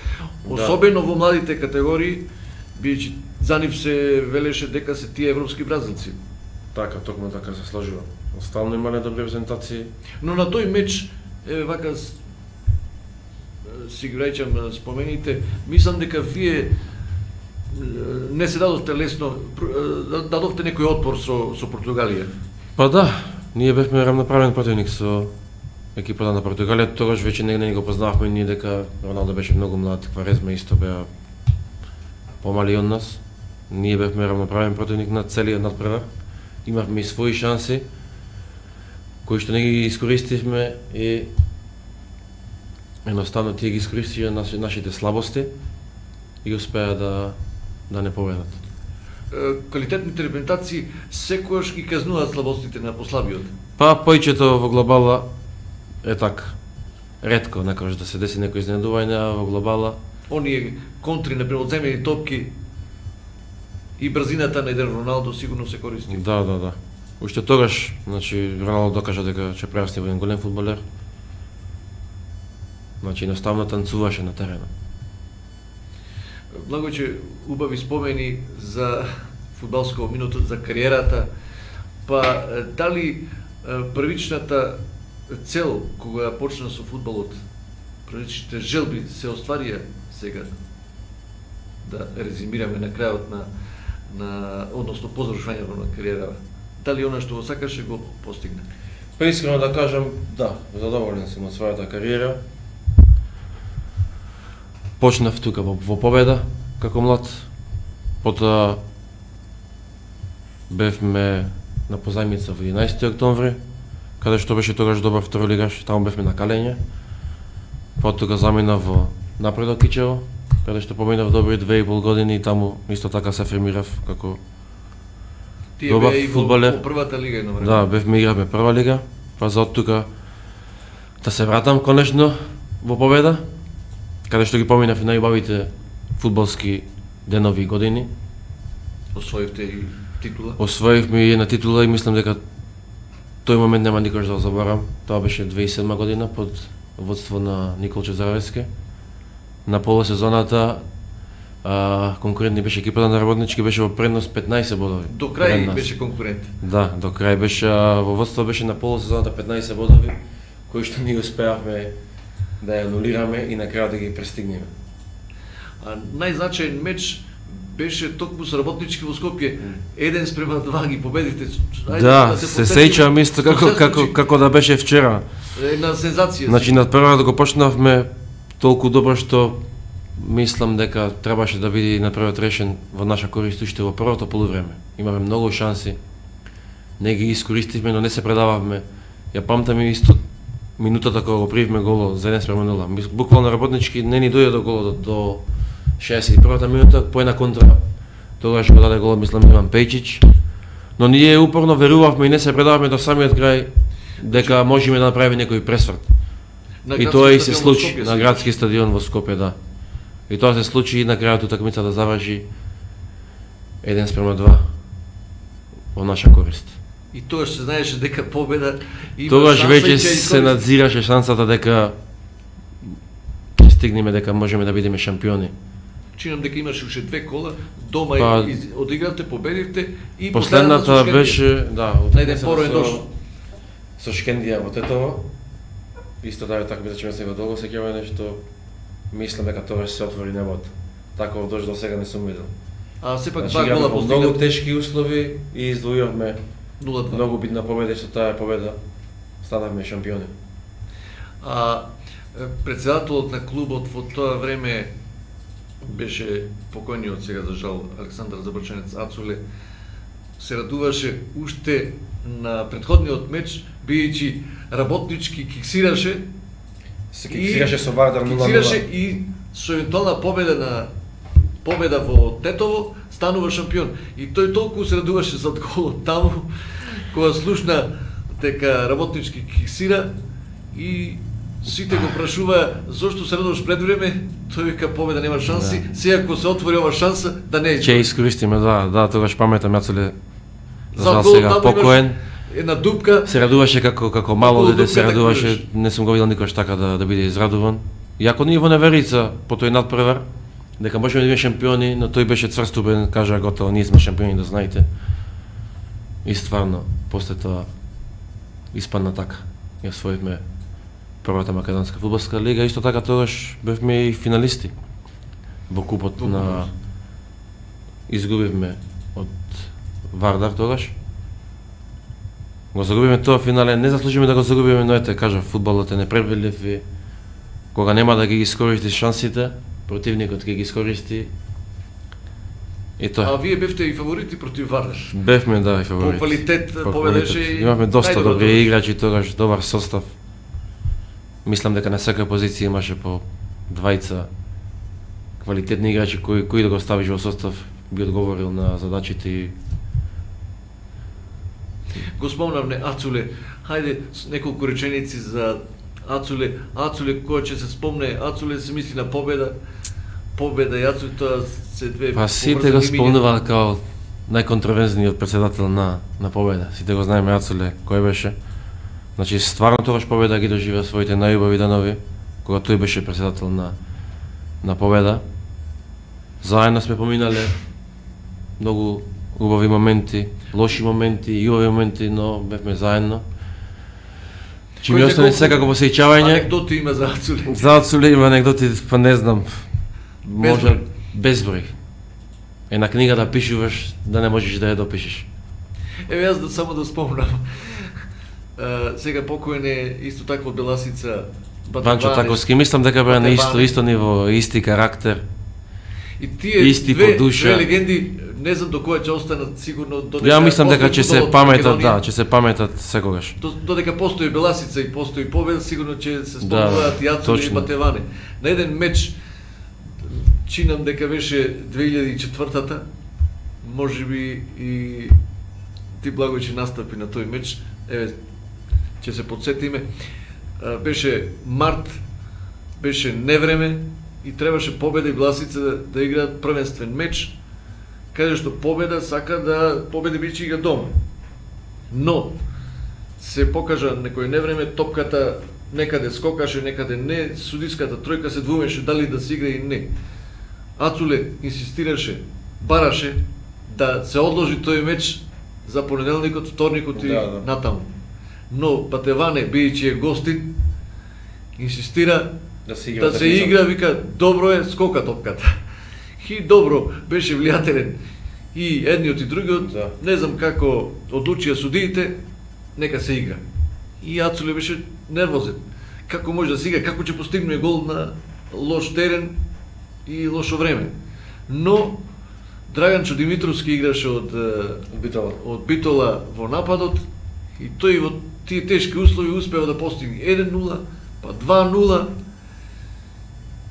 особено да. Во младите категории, бијќи за нив се велеше дека се тие европски бразилци. Така, токму така се сложува. Остално имале добри презентации. Но на тој меч, е, вака, си ги рајчам спомените, мислам дека вие не се дадовте лесно, дадовте некој отпор со, со Португалија. Па да, ние бевме рамноправен противник со екипата на Португалија, тогаш веќе не, не го познававме ние дека Роналдо беше многу млад, Кварезма исто беа помали од нас. Ние бевме рамноправен противник на целиот надпревар. Имавме и своји шанси кои што не ги искористивме и едноставно тие ги искористија наши, нашите слабости и успеа да да не победат. Квалитетните репрезентации секогаш ги казнуваат слабостите на послабиот. Па појчето во глобала е така. Ретко некогаш да се деси некој изненадување, а во глобала оние контри на превоземени топки и брзината на еден Роналдо сигурно се користи. Да, да, да. Уште тогаш, значи Роналдо докажа дека ќе прерасне во еден голем фудбалер. Значи едноставно танцуваше на терена. Многу че убави спомени за фудбалско минуто, за кариерата. Па дали првичната цел кога почна со фудбалот, првичните желби се остварија сега? Да резимираме на крајот на на односно по завршувањето на кариерава. Дали она што го сакаше го постигна? Па искрено да кажам, да, задоволен сум од својата кариера. Почнав тука во, во Победа како млад, потоа бевме на позајмица во единаесети октомври, каде што беше тогаш добар второлигаш, таму бевме на каленје. Потоа заминав во Напредок Кичево, каде што поминав добри две и пол години и таму исто така се афирмирав како Тие добар беа и во, фудбалер. во првата лига едно време. Да, бевме игравме прва лига, па за од тука да се вратам конечно во Победа, каде што ги поминав и најубавите фудбалски денови и години. Освоивте и титула? Освоивме и една титула и мислам дека тој момент нема никош да го заборам. Тоа беше две илјадна и седма година под водство на Никол Чезаровски. На полусезоната а, конкурентни беше екипата на Работнички, беше во предност петнаесет бодови. До крај беше конкурент. Да, до крај беше, а, во водство беше на полусезоната петнаесет бодови, кои што ние успеавме да ја анулираме и на крајот да ги престигнеме. А најзначаен меч беше токму со Работнички во Скопје. Еден спрема два ги победите. Ајде, да, се сеќавам исто како како како да беше вчера. Една сензација. Значи на прва да го почнавме толку добро што мислам дека требаше да биде направот решен во наша корист уште во првото полувреме. Имаме многу шанси. Не ги искористивме, но не се предававме. Ја памтам и исто минутата кога го прививме голо за еден спрема нула. Буквално Работнички не ни дојде до голо до, до шеесет и првата минута, по една контра. Тогаш го даде голот, мислам, Иван Пејчич. Но ние упорно верувавме и не се предававме до самиот крај дека можеме да направиме некој пресврт. И тоа и се случи на градски стадион во Скопје, да. И тоа се случи и на крајот утакмица да заврши еден спрема два во наша корист. И тогаш се знаеше дека победа има тогаш шанса веќе и ќе се надзираше шансата дека ќе стигнеме, дека можеме да бидеме шампиони. Чинам дека имаше уште две кола, дома па, и одигравте, победивте и последната беше, да, на еден пороен дош со Шкендија во Тетово. Исто да така би зачеме сега долго сеќава нешто. Мислам дека тогаш се отвори небото. Таков дожд до сега не сум видел. А сепак значи, два гола постигнат. Многу тешки услови и издвојувавме нула два. Многу битна победа, што таа победа станавме шампиони. А претседателот на клубот во тоа време беше покојниот сега за жал Александар Забрчанец Ацуле. Се радуваше уште на претходниот меч, бијќи Работнички киксираше Се фиксираше со Вардар нула нула. Фиксираше и со евентуална победа на победа во Тетово станува шампион. И тој толку се радуваше за голот таму кога слушна дека работнички киксира и сите го прашува зошто се радуваш пред време, тој вика победа нема шанси, да. Сега ако се отвори ова шанса да не е. Ќе искористиме, да, да, тогаш паметам Јацуле. За За гол сега покоен. Една дупка. Се радуваше како како мало дете, се дупка, радуваше, не сум го видел никош така да да биде израдуван. Иако ние во неверица по тој надпревар дека можеме да бидеме шампиони, но тој беше цврстубен, кажа готово, ние сме шампиони, да знаете. И стварно, после тоа испадна така. Ја освоивме првата македонска фудбалска лига, исто така тогаш бевме и финалисти во купот на изгубивме од Вардар тогаш. Го загубиме тоа финале, не заслужиме да го загубиме, но ете, кажа, фудбалот е непредвидлив и кога нема да ги искористи шансите, противникот ќе ги искористи. И тоа. А вие бевте и фаворити против Вардар. Бевме, да, и фаворити. По квалитет победеше и имавме доста најдобро добри тогаш. играчи тогаш, добар состав. Мислам дека на секоја позиција имаше по двајца квалитетни играчи кои кои да го ставиш во состав би одговорил на задачите и Го спомнавме Ацуле. Хајде с неколку реченици за Ацуле. Ацуле кој ќе се спомне, Ацуле се мисли на победа. Победа и Ацуле тоа се две. па сите го спомнуваат као најконтроверзниот претседател на на победа. Сите го знаеме Ацуле кој беше. Значи стварно тогаш победа ги доживеа своите најубави денови кога тој беше претседател на на победа. Заедно сме поминале многу убави моменти, лоши моменти и убави моменти, но бевме заедно. Чи ми остане секако посеќавање. Анекдоти има за Ацуле. За Ацуле има анекдоти, па не знам. Може безброј. Една книга да пишуваш, да не можеш да ја допишеш. Еве јас да само да спомнам. Uh, сега покоен е исто така од Беласица Ванчо Таковски, мислам дека беа на исто исто ниво, исти карактер. И тие исти две, по душа. две легенди, не знам до која ќе останат сигурно додека. Ја мислам дека ќе се фудбалот паметат, Македонија. да, ќе се паметат секогаш. До- Додека постои Беласица и постои победа, сигурно ќе се спомнуваат Да, и Ацуле и точно. Батеване. На еден меч, чинам дека беше две илјади и четвртата, можеби и ти Благој ќе настапи на тој меч. Еве, ќе се подсетиме. А, Беше март, беше невреме и требаше Победа и Беласица да, да играат првенствен меч, каде што Победа сака да победи биче игра дома. Но се покажа некој невреме, топката некаде скокаше, некаде не, судиската тројка се двумеше дали да се игра и не. Ацуле инсистираше, бараше да се одложи тој меч за понеделникот, вторникот и Да, да. натаму. Но Батеване, бидејќи е гостин, инсистира Да се игра. да се игра, вика, добро е, скока топката. И добро, беше влијателен и едниот и другиот, Да. не знам како одлучија судиите, нека се игра. И Ацуле беше нервозен. Како може да се игра, како ќе постигне гол на лош терен и лошо време. Но Драганчо Димитровски играше од е, Битола. од Битола во нападот и тој во тие тешки услови успева да постигне еден нула, па два нула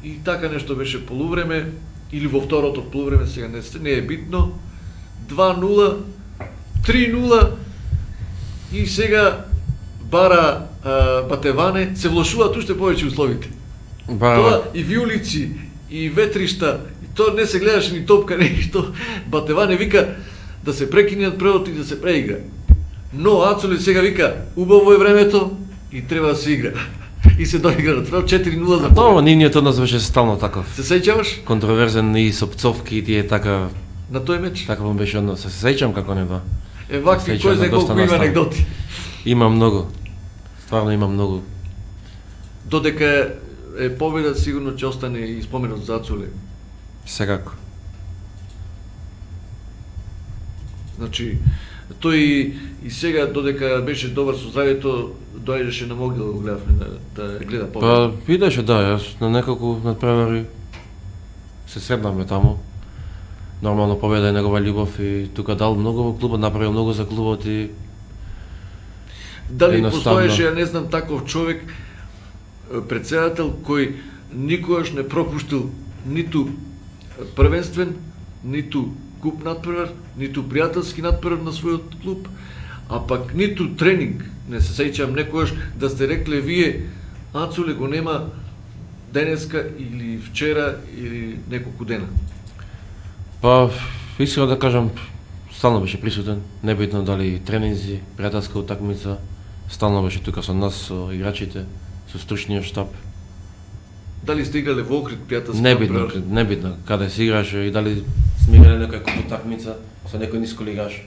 и така нешто беше полувреме или во второто полувреме, сега не, не е битно, два нула, три нула и сега бара а, Батеване, се влошуваат уште повеќе условите. Бара, Тоа и виулици, и ветришта, и тоа не се гледаше ни топка, нешто. Батеване вика да се прекинат превод и да се преигра. Но Ацуле сега вика, убаво е времето и треба да се игра. И се доигра на превод четири нула за тоа победа. нивниот однос беше стално таков. Се сеќаваш Контроверзен и со пцовки и тие така на тој меч? таков му беше однос. Се сеќам како не да. Е, вакви, Сеќам кој знае на доста колку има настани. анекдоти. Има многу. Стварно има многу. Додека е победа, сигурно ќе остане и споменот за Ацуле. Секако. Значи, тој и, и сега, додека беше добар со здравието, доаѓаше на могила, го гледавме да, да гледа победа. Па видеше да, јас на неколку надпревари се сретнавме таму. Нормално победа е негова љубов и тука дал многу во клубот, направил многу за клубот и Дали едноставно. постоеше, ја не знам, таков човек, претседател кој никогаш не пропуштил ниту првенствен, ниту куп натпревар, ниту пријателски натпревар на својот клуб, а пак ниту тренинг. Не се сеќавам некогаш да сте рекле вие Ацуле го нема денеска или вчера или неколку дена. Па, искрено да кажам, стално беше присутен, небитно дали тренинзи, пријателска утакмица, стално беше тука со нас, со играчите, со стручниот штаб. Дали сте играле во Охрид пријателски? Небитно, небитно, каде се играше и дали сме играле некоја куп утакмица со некој нисколигаш.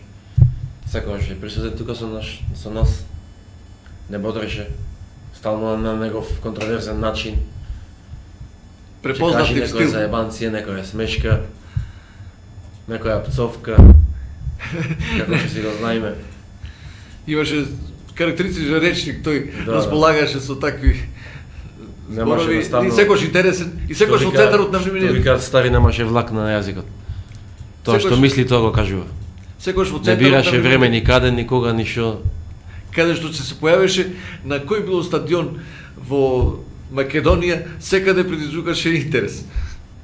Секогаш е присутен тука со нас, со нас. Не бодреше, стално на негов контроверзен начин. Препознат некоја стил. заебанција, некоја смешка, некоја пцовка, како ќе си го знаеме. Имаше карактеристичен речник, тој Да, располагаше со такви Немаше зборови, наставно- и секојаш интересен, и секојаш во центарот на Тоа вниманието. викаат стари немаше влак на јазикот. Тоа што Секогаш- мисли, тоа го кажува. Секојаш во Не центарот бираше на време вниманието. никаде, никога, ништо. Каде што се појавеше на кој било стадион во Македонија, секаде предизвикаше интерес.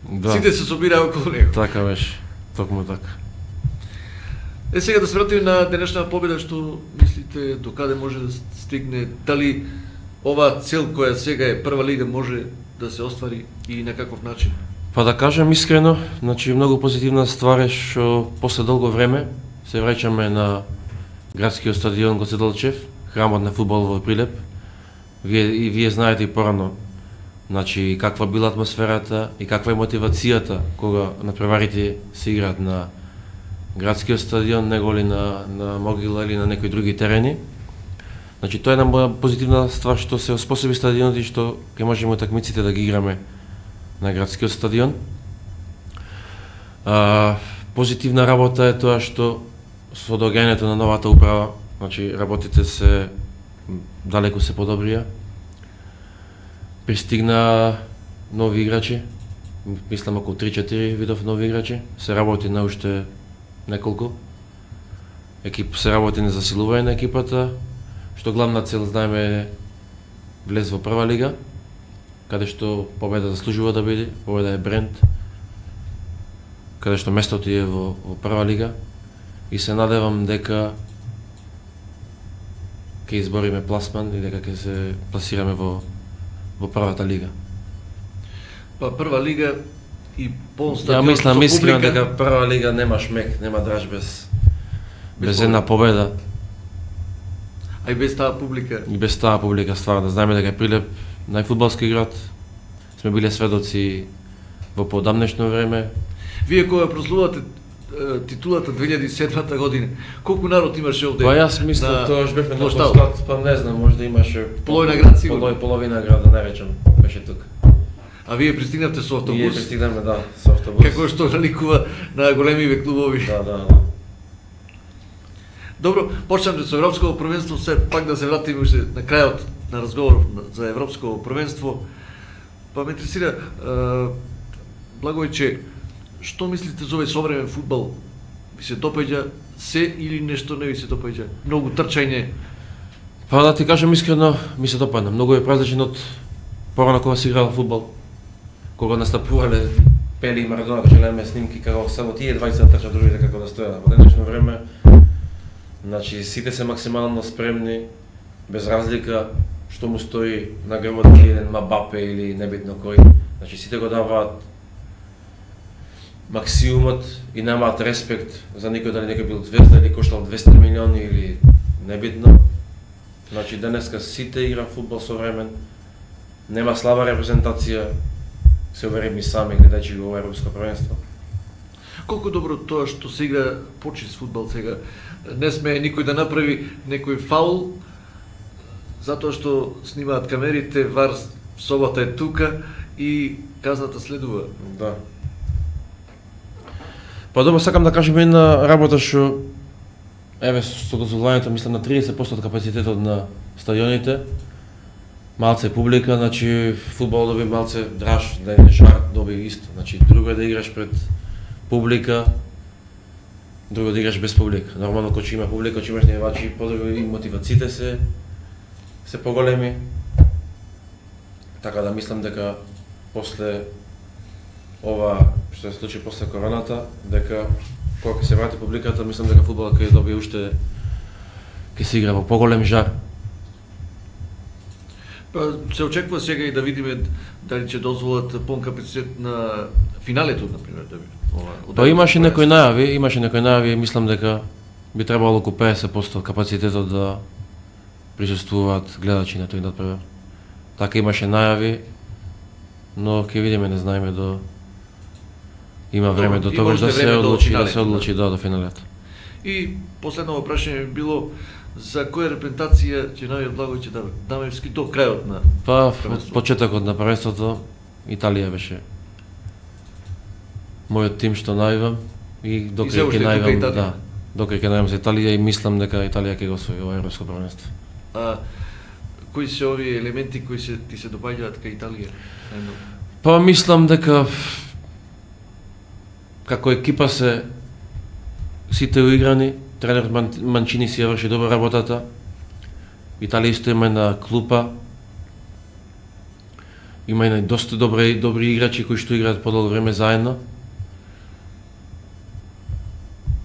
Да, Сите се собираа околу него. така беше. Токму така. Е, сега да се вратиме на денешна победа, што мислите до каде може да стигне, дали оваа цел која сега е прва лига може да се оствари и на каков начин? Па да кажем искрено, значи многу позитивна ствар е што после долго време се враќаме на градскиот стадион Гоце Делчев, храмот на фудбал во Прилеп. Вие и вие знаете и порано, значи каква била атмосферата и каква е мотивацијата кога натпреварите се играат на градскиот стадион, него ли на на Могила или на некои други терени. Значи тоа е една позитивна ствар што се оспособи стадионот и што ќе можеме утакмиците да ги играме на градскиот стадион. А, позитивна работа е тоа што со доаѓањето на новата управа, значи работите се далеку се подобрија. Пристигна нови играчи, мислам околу три-четири видов нови играчи, се работи на уште неколку. Екип се работи на засилување на екипата, што главна цел знаеме е влез во прва лига, каде што победа заслужува да биде, победа е бренд, каде што местото е во, во прва лига и се надевам дека ќе избориме пласман и дека ќе се пласираме во во првата лига. Па прва лига и полн Ја стадион мислам со искрено публика. дека прва лига нема шмек, нема драж без Без без една победа А и без таа публика. и без таа публика ствар да знаеме дека Прилеп најфудбалски град. Сме биле сведоци во подамнешно време. Вие кога прослувате е, титулата две илјади и седма година, колку народ имаше овде? Па јас мислам на тоа беше на площад? площад, па не знам, може да имаше Половина град сигурно. Полови, половина град да не речам, беше тука. А вие пристигнавте со Ние автобус, пристигнаме, да, со автобус. како што наликува на големиве клубови. Да, да, да. Добро, почнаме со Европското првенство, се пак да се вратиме уште на крајот на разговор за Европско првенство. Па ме интересира, е, Благојче, што мислите за овој современ фудбал? Ви се допаѓа се или нешто не ви се допаѓа? Многу трчање. Па да ти кажам искрено, ми се допадна. Многу е различен од порано кога се играл фудбал. Кога настапувале Пели и Марадона, кога гледаме снимки како само тие двајца трчат другите како да стојат. Во денешно време, значи сите се максимално спремни, без разлика што му стои на грбот еден Мбапе или небитно кој. Значи сите го даваат максимумот и немаат респект за никој, дали некој бил звезда или коштал двесте милиони или небитно. Значи денеска сите игра фудбал современ, нема слаба репрезентација, се уверим и сами гледајќи го ова Европско првенство. Колку добро тоа што се игра почист фудбал сега. Не сме никој да направи некој фаул, затоа што снимаат камерите, вар собата е тука и казната следува. Да. Па добро, сакам да кажем една работа што еве со дозволувањето мислам на триесет проценти од капацитетот на стадионите. Малце публика, значи фудбал доби малце драж, да не шар доби исто. Значи друго е да играш пред публика, друго да играш без публика. Нормално кога има публика, кога имаш навивачи, подобро и мотивациите се се поголеми. Така да мислам дека после ова што се случи после короната, дека кога ќе се врати публиката, мислам дека фудбалот ќе добие уште ќе се игра во поголем жар. Па се очекува сега и да видиме дали ќе дозволат полн капацитет на финалето, например, да би. Ова, Па имаше некои најави, имаше некои најави, мислам дека би требало околу педесет проценти капацитетот да присуствуваат гледачи на тој надпревар. Така имаше најави, но ќе видиме, не знаеме до има време до тогаш да се одлучи, да се одлучи да до финалето. И последно прашање би било за која репрезентација ќе најават Благојче Дамев? Дамевски до крајот на Па од почетокот на првенството Италија беше мојот тим што најавам и докај ќе најавам, да, докај ќе најавам за Италија и мислам дека Италија ќе го освои ова европско првенство. А кои се овие елементи кои се ти се допаѓаат кај Италија? Па мислам дека како екипа се сите уиграни, тренерот Манчини си ја врши добра работата. Италија исто има една клупа. Има и доста добри добри играчи кои што играат подолго време заедно.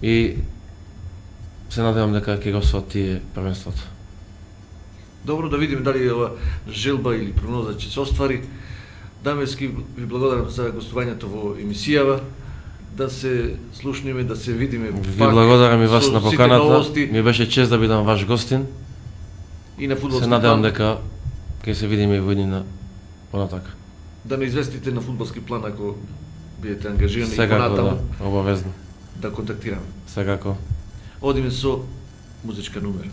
И се надевам дека ќе го освоат тие првенството. Добро, да видиме дали ова желба или прогноза ќе се оствари. Дамевски ви благодарам за гостувањето во емисијава. Да се слушнеме, да се видиме. Ви благодарам и вас на поканата. Ми беше чест да бидам ваш гостин. И на фудбалски се надевам дека ќе се видиме и во иднина понатака. Да не известите на фудбалски план ако бидете ангажирани и понатаму. понатаму. Да, обавезно. Да контактираме. Секако. Одиме со музичка номер.